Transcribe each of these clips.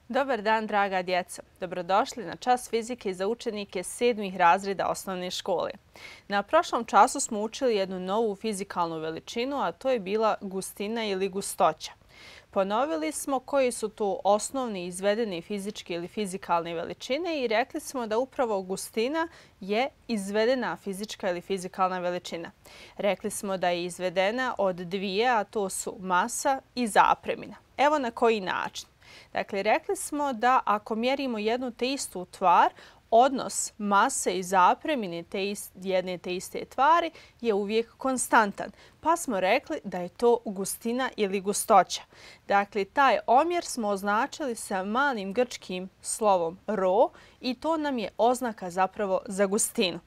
Dobar dan, draga djeco. Dobrodošli na čas fizike za učenike 7. razreda osnovne škole. Na prošlom času smo učili jednu novu fizikalnu veličinu, a to je bila gustina ili gustoća. Ponovili smo koji su to osnovni izvedeni fizičke ili fizikalne veličine i rekli smo da upravo gustina je izvedena fizička ili fizikalna veličina. Rekli smo da je izvedena od dvije, a to su masa i zapremina. Evo na koji način. Dakle, rekli smo da ako mjerimo jednu te istu tvar, odnos mase i zapremine jedne te iste tvari je uvijek konstantan. Pa smo rekli da je to gustina ili gustoća. Dakle, taj omjer smo označili sa malim grčkim slovom rho i to nam je oznaka zapravo za gustinu.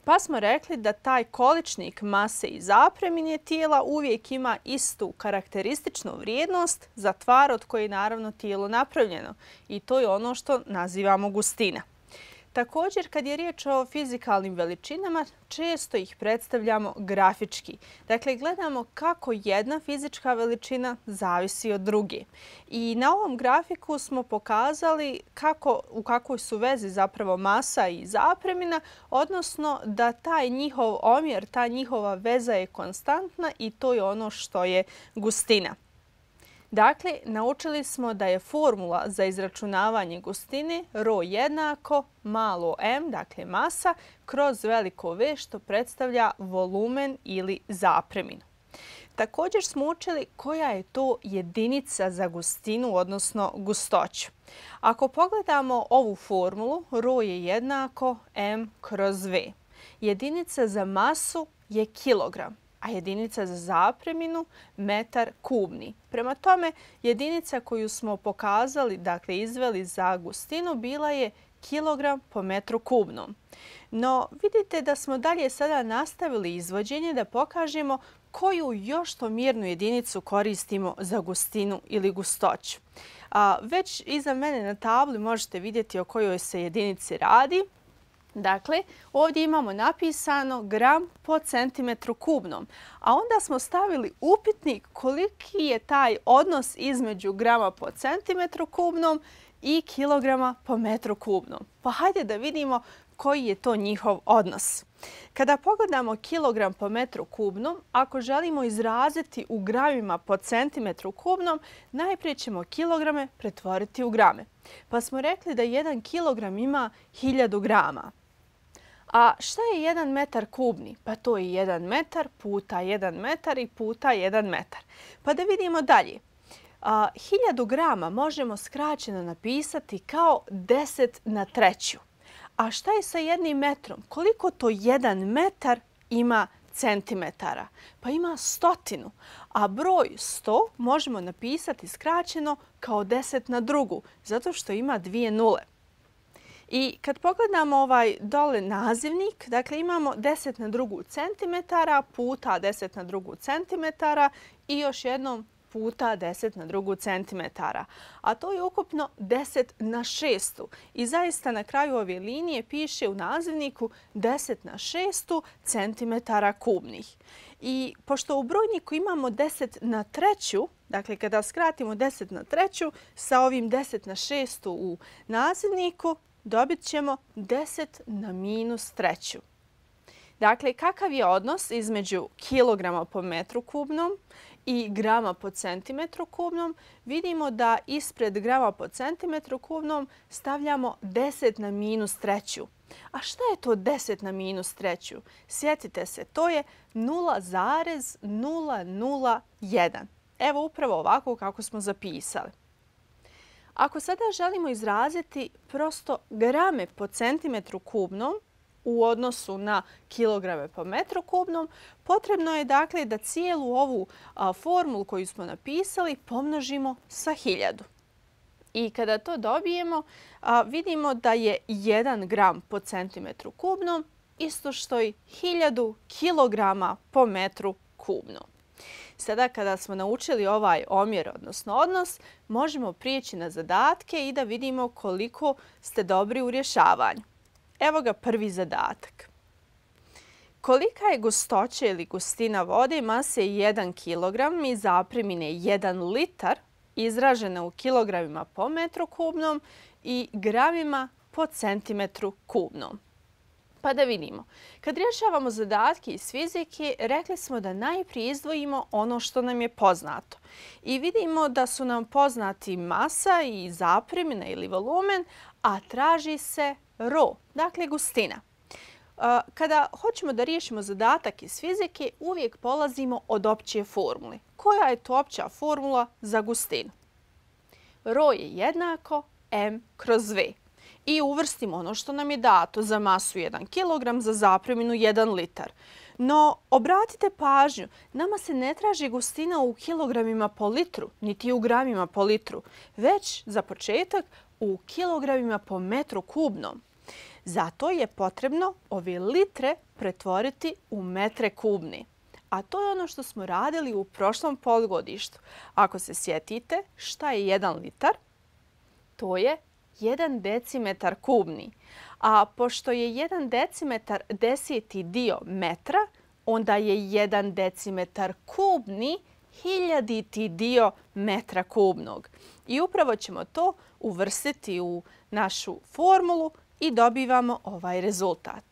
Pa smo rekli da taj količnik mase i zapremine tijela uvijek ima istu karakterističnu vrijednost za tvar od koje je naravno tijelo napravljeno. I to je ono što nazivamo gustina. Također, kad je riječ o fizikalnim veličinama, često ih predstavljamo grafički. Dakle, gledamo kako jedna fizička veličina zavisi od druge. I na ovom grafiku smo pokazali u kakvoj su vezi zapravo masa i zapremina, odnosno da taj njihov omjer, ta njihova veza je konstantna i to je ono što je gustina. Dakle, naučili smo da je formula za izračunavanje gustine rho jednako malo m, dakle masa, kroz veliko V što predstavlja volumen ili zapreminu. Također smo učili koja je to jedinica za gustinu, odnosno gustoću. Ako pogledamo ovu formulu, rho je jednako m kroz V. Jedinica za masu je kilogram, a jedinica za zapreminu metar kubni. Prema tome, jedinica koju smo pokazali, dakle izveli za gustinu, bila je kilogram po metru kubnom. No, vidite da smo dalje sada nastavili izvođenje da pokažemo koju još to mjernu jedinicu koristimo za gustinu ili gustoću. Već iza mene na tabli možete vidjeti o kojoj se jedinici radi. Dakle, ovdje imamo napisano gram po centimetru kubnom, a onda smo stavili upitnik koliki je taj odnos između grama po centimetru kubnom i kilograma po metru kubnom. Pa hajde da vidimo koji je to njihov odnos. Kada pogledamo kilogram po metru kubnom, ako želimo izraziti u gramima po centimetru kubnom, najprije ćemo kilograme pretvoriti u grame. Pa smo rekli da 1 kilogram ima 1000 grama. A šta je 1 metar kubni? Pa to je 1 metar puta 1 metar i puta 1 metar. Pa da vidimo dalje. 1000 grama možemo skraćeno napisati kao 10 na treću. A šta je sa 1 metrom? Koliko to 1 metar ima centimetara? Pa ima 100. A broj 100 možemo napisati skraćeno kao 10 na drugu, zato što ima 2 nule. I kad pogledamo ovaj dole nazivnik, dakle imamo 10 na drugu centimetara puta 10 na drugu centimetara i još jednom puta 10 na drugu centimetara. A to je ukupno 10 na 6. I zaista na kraju ove linije piše u nazivniku 10 na 6 centimetara kubnih. I pošto u brojniku imamo 10 na treću, dakle kada skratimo 10 na treću sa ovim 10 na 6 u nazivniku, dobit ćemo 10 na minus treću. Dakle, kakav je odnos između kilograma po metru kubnom i grama po centimetru kubnom? Vidimo da ispred grama po centimetru kubnom stavljamo 10 na minus treću. A šta je to 10 na minus treću? Sjetite se, to je 0,001. Evo upravo ovako kako smo zapisali. Ako sada želimo izraziti prosto grame po centimetru kubnom u odnosu na kilograme po metru kubnom, potrebno je dakle da cijelu ovu formulu koju smo napisali pomnožimo sa 1000. I kada to dobijemo, vidimo da je 1 gram po centimetru kubnom isto što i 1000 kilograma po metru kubnom. Sada kada smo naučili ovaj omjer, odnosno odnos, možemo prijeći na zadatke i da vidimo koliko ste dobri u rješavanju. Evo ga prvi zadatak. Kolika je gustoća ili gustina vode mase 1 kg i zapremine 1 litar izražena u kilogramima po metru kubnom i gramima po centimetru kubnom. Pa da vidimo. Kad rješavamo zadatke iz fizike, rekli smo da najprije izdvojimo ono što nam je poznato. I vidimo da su nam poznati masa i zapremina ili volumen, a traži se ρ, dakle gustina. Kada hoćemo da riješimo zadatak iz fizike, uvijek polazimo od opće formule. Koja je to opća formula za gustinu? ρ je jednako m kroz v. I uvrstimo ono što nam je dato za masu 1 kg, za zapreminu 1 litar. No, obratite pažnju, nama se ne traži gustina u kilogramima po litru, niti u gramima po litru, već za početak u kilogramima po metru kubnom. Zato je potrebno ove litre pretvoriti u metre kubni. A to je ono što smo radili u prošlom polugodištu. Ako se sjetite šta je 1 litar, to je 1 decimetar kubni. A pošto je 1 decimetar 10. dio metra, onda je 1 decimetar kubni 1000. dio metra kubnog. I upravo ćemo to uvrstiti u našu formulu i dobivamo ovaj rezultat.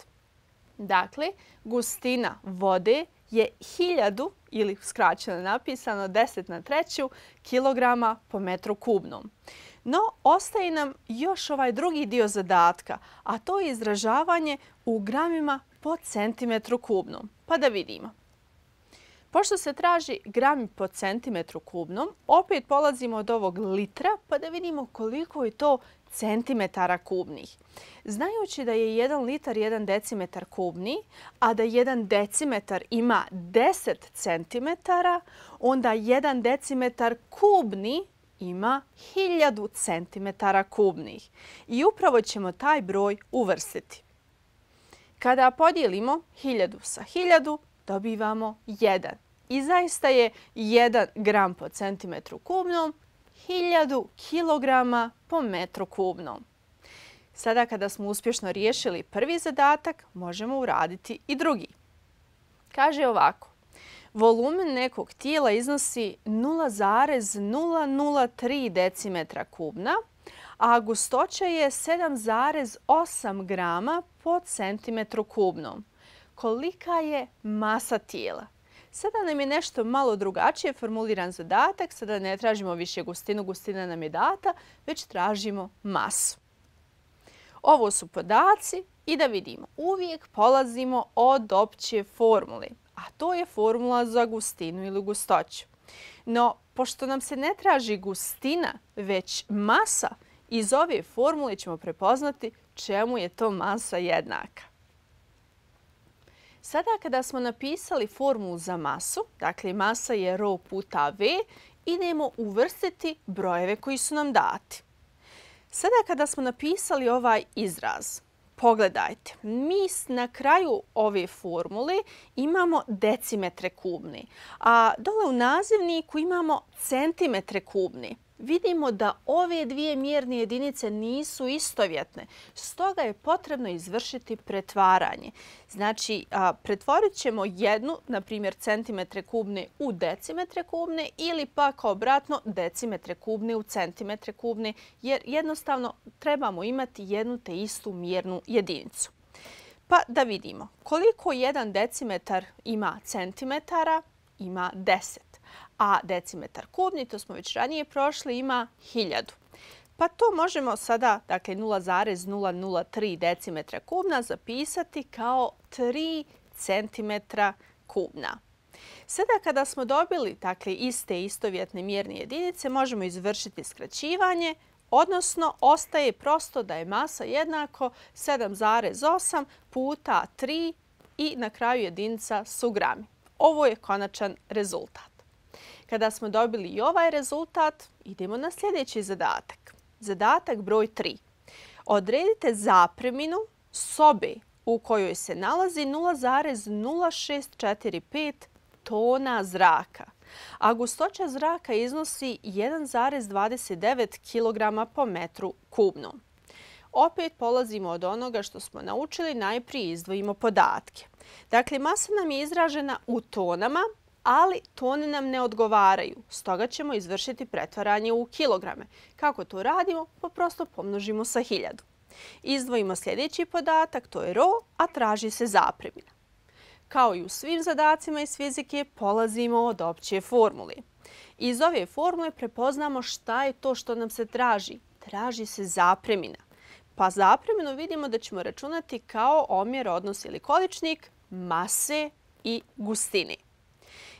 Dakle, gustina vode je 1000 ili skraćeno napisano 10⁻³ kilograma po metru kubnom. No, ostaje nam još ovaj drugi dio zadatka, a to je izražavanje u gramima po centimetru kubnom. Pa da vidimo. Pošto se traži grami po centimetru kubnom, opet polazimo od ovog litra pa da vidimo koliko je to centimetara kubnih. Znajući da je 1 litar 1 decimetar kubni, a da 1 decimetar ima 10 centimetara, onda 1 decimetar kubni ima 1000 centimetara kubnih. I upravo ćemo taj broj uvrstiti. Kada podijelimo 1000 sa 1000, dobivamo 1. I zaista je 1 gram po centimetru kubnom 1000 kilograma po metru kubnom. Sada kada smo uspješno riješili prvi zadatak, možemo uraditi i drugi. Kaže ovako. Volumen nekog tijela iznosi 0,003 decimetra kubna, a gustoća je 7,8 grama po centimetru kubnom. Kolika je masa tijela? Sada nam je nešto malo drugačije formuliran zadatak. Sada ne tražimo više gustinu, gustina nam je data, već tražimo masu. Ovo su podaci i da vidimo. Uvijek polazimo od opće formule, a to je formula za gustinu ili gustoću. No, pošto nam se ne traži gustina, već masa, iz ove formule ćemo prepoznati čemu je to masa jednaka. Sada kada smo napisali formulu za masu, dakle masa je ρ puta v, idemo uvrstiti brojeve koji su nam dati. Sada kada smo napisali ovaj izraz, pogledajte, mi na kraju ove formule imamo decimetre kubne, a dole u nazivniku imamo centimetre kubne. Vidimo da ove dvije mjerne jedinice nisu istovjetne, stoga je potrebno izvršiti pretvaranje. Znači, pretvorit ćemo jednu, na primjer centimetre kubne u decimetre kubne ili pak obratno decimetre kubne u centimetre kubne, jer jednostavno trebamo imati jednu te istu mjernu jedinicu. Pa da vidimo koliko 1 decimetar ima centimetara, ima 10. A decimetar kubni, to smo već ranije prošli, ima 1000. Pa to možemo sada, dakle 0,003 decimetra kubna, zapisati kao 3 centimetra kubna. Sada kada smo dobili dakle, iste istovjetne mjerne jedinice, možemo izvršiti skraćivanje, odnosno ostaje prosto da je masa jednako 7,8 puta 3 i na kraju jedinica su grami. Ovo je konačan rezultat. Kada smo dobili i ovaj rezultat, idemo na sljedeći zadatak. Zadatak broj 3. Odredite zapreminu sobe u kojoj se nalazi 0,0645 tona zraka, a gustoća zraka iznosi 1,29 kg po metru kubnom. Opet polazimo od onoga što smo naučili, najprije izdvojimo podatke. Dakle, masa nam je izražena u tonama, ali tone nam ne odgovaraju. Stoga ćemo izvršiti pretvaranje u kilograme. Kako to radimo? Pa prosto pomnožimo sa 1000. Izdvojimo sljedeći podatak, to je ro, a traži se zapremina. Kao i u svim zadacima iz fizike, polazimo od opće formule. Iz ove formule prepoznamo šta je to što nam se traži. Traži se zapremina. Pa zapreminu vidimo da ćemo računati kao omjer, odnos ili količnik mase i gustine.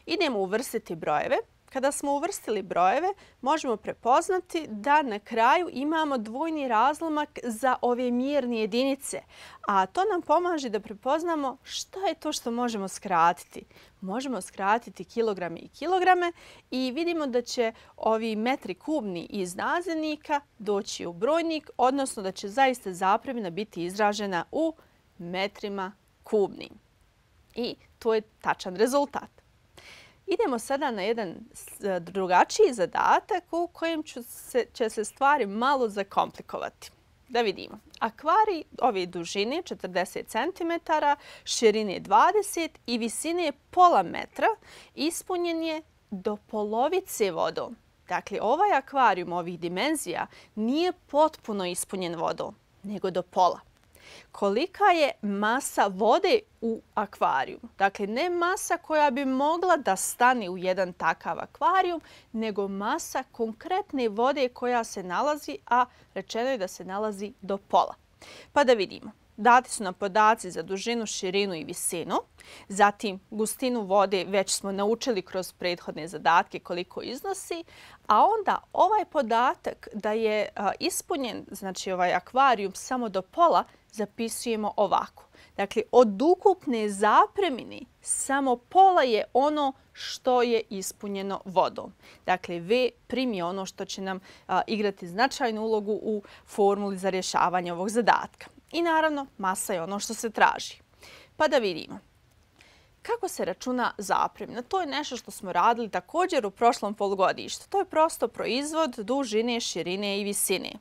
Idemo uvrstiti brojeve. Kada smo uvrstili brojeve, možemo prepoznati da na kraju imamo dvojni razlomak za ove mjerne jedinice, a to nam pomaže da prepoznamo šta je to što možemo skratiti. Možemo skratiti kilograme i kilograme i vidimo da će ovi metri kubni iz nazivnika doći u brojnik, odnosno da će zaista zapremina biti izražena u metrima kubnim. I to je tačan rezultat. Idemo sada na jedan drugačiji zadatak u kojem će se stvari malo zakomplikovati. Da vidimo. Akvarij ove dužine 40 cm, širine 20 i visine pola metra ispunjen je do polovice vodom. Dakle, ovaj akvarijum ovih dimenzija nije potpuno ispunjen vodom, nego do pola. Kolika je masa vode u akvarijum? Dakle, ne masa koja bi mogla da stane u jedan takav akvarijum, nego masa konkretne vode koja se nalazi, a rečeno je da se nalazi do pola. Pa da vidimo. Dati su nam podaci za dužinu, širinu i visinu. Zatim, gustinu vode već smo naučili kroz prethodne zadatke koliko iznosi. A onda ovaj podatak da je ispunjen, znači ovaj akvarijum samo do pola, zapisujemo ovako. Dakle, od ukupne zapremine samo pola je ono što je ispunjeno vodom. Dakle, V prim je ono što će nam igrati značajnu ulogu u formuli za rješavanje ovog zadatka. I naravno, masa je ono što se traži. Pa da vidimo. Kako se računa zapremina? To je nešto što smo radili također u prošlom polugodištu. To je prosto proizvod dužine, širine i visine.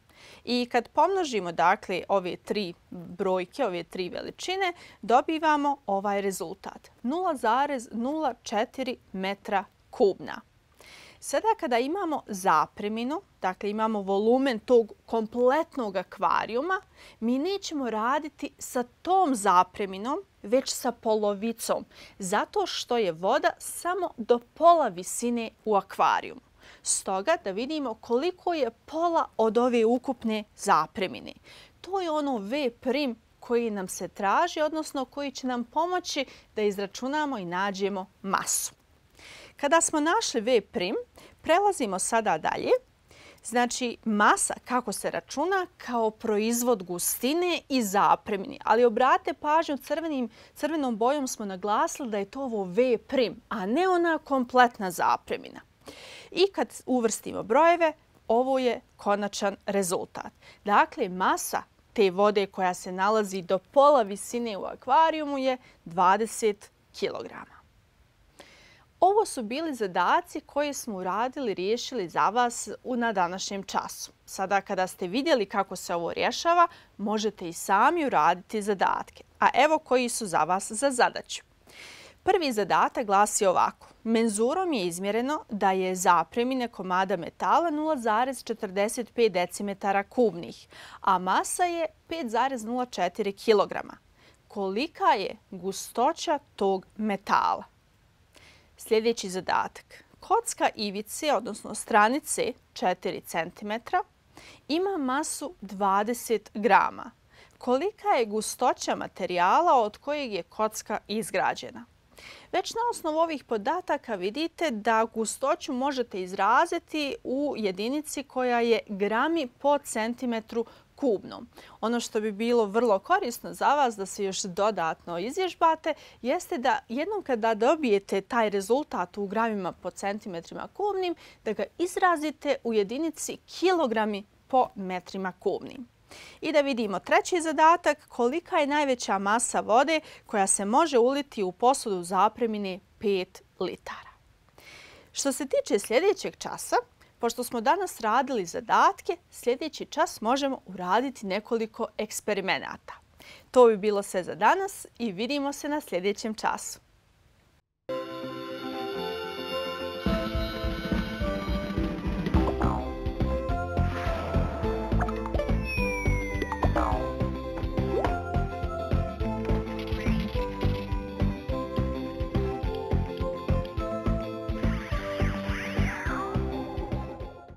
I kad pomnožimo dakle ove tri brojke, ove tri veličine, dobivamo ovaj rezultat. 0,04 metra kubna. Sada kada imamo zapreminu, dakle imamo volumen tog kompletnog akvarijuma, mi nećemo raditi sa tom zapreminom, već sa polovicom, zato što je voda samo do pola visine u akvarijumu. Stoga da vidimo koliko je pola od ove ukupne zapremine. To je ono V prim koji nam se traži, odnosno koji će nam pomoći da izračunamo i nađemo masu. Kada smo našli V prim, prelazimo sada dalje. Znači, masa kako se računa kao proizvod gustine i zapremine. Ali obratite pažnju, crvenom bojom smo naglasili da je to ovo V prim, a ne ona kompletna zapremina. I kad uvrstimo brojeve, ovo je konačan rezultat. Dakle, masa te vode koja se nalazi do pola visine u akvarijumu je 20 kg. Ovo su bili zadaci koje smo uradili, riješili za vas na današnjem času. Sada kada ste vidjeli kako se ovo rješava, možete i sami uraditi zadatke. A evo koji su za vas za zadaću. Prvi zadatak glasi ovako. Menzurom je izmjereno da je zapremine komada metala 0,45 decimetara kubnih, a masa je 5,04 kg. Kolika je gustoća tog metala? Sljedeći zadatak. Kocka ivice, odnosno stranice 4 cm, ima masu 20 grama. Kolika je gustoća materijala od kojeg je kocka izgrađena? Već na osnovu ovih podataka vidite da gustoću možete izraziti u jedinici koja je grami po centimetru kubnom. Ono što bi bilo vrlo korisno za vas da se još dodatno izvježbate jeste da jednom kada dobijete taj rezultat u gramima po centimetrima kubnim, da ga izrazite u jedinici kilogrami po metrima kubnim. I da vidimo treći zadatak, kolika je najveća masa vode koja se može uliti u posudu zapremine 5 litara. Što se tiče sljedećeg časa, pošto smo danas radili zadatke, sljedeći čas možemo uraditi nekoliko eksperimenata. To bi bilo sve za danas i vidimo se na sljedećem času.